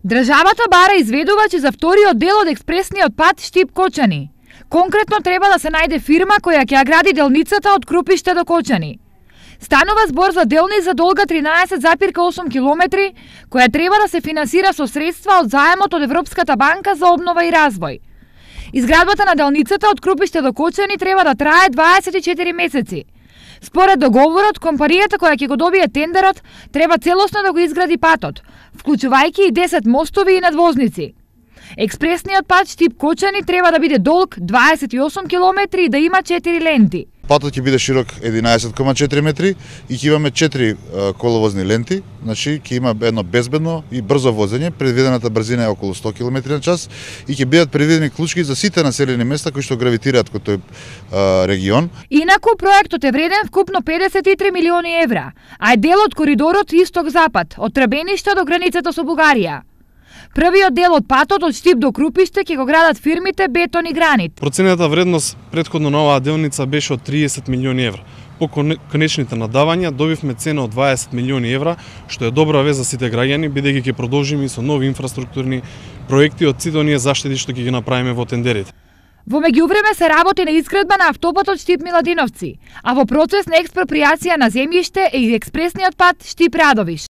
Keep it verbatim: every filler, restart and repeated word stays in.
Државата бара изведувач за вториот дел од експресниот пат Штип-Кочани. Конкретно треба да се најде фирма која ќе ја гради делницата од Крупиште до Кочани. Станува збор за делница долга тринаесет зарез осум километри, која треба да се финансира со средства од заемот од Европската банка за обнова и развој. Изградбата на делницата од Крупиште до Кочани треба да трае дваесет и четири месеци. Според договорот, компанијата која ќе го добие тендерот треба целосно да го изгради патот, вклучувајќи и десет мостови и надвозници. Експресниот пат Штип-Кочани треба да биде долг дваесет и осум километри и да има четири ленти. Патот ќе биде широк единаесет кoma четири метри и ќе имаме четири коловозни ленти, значи ќе има едно безбедно и брзо возење, предвидената брзина е околу сто километри на час и ќе бидат предвидени клучки за сите населени места кои што гравитираат кон тој а, регион. Инаку проектот е вреден вкупно педесет и три милиони евра, а е дел од коридорот Исток-Запад, од Требениште до границата со Бугарија. Првиот дел од патот од Штип до Крупиште ќе го градат фирмите Бетон и Гранит. Проценета вредност претходно на оваа делница беше од триесет милиони евра. По конечните надавања добивме цена од дваесет милиони евра, што е добра вест за сите граѓани, бидејќи ќе продолжиме со нови инфраструктурни проекти од сите оние заштеди што ќе ги направиме во тендерите. Во меѓувреме се работи на изградба на автопатот Штип-Миладиновци, а во процес на експроприација на земјиште е и експресниот пат Штип-Радовиш.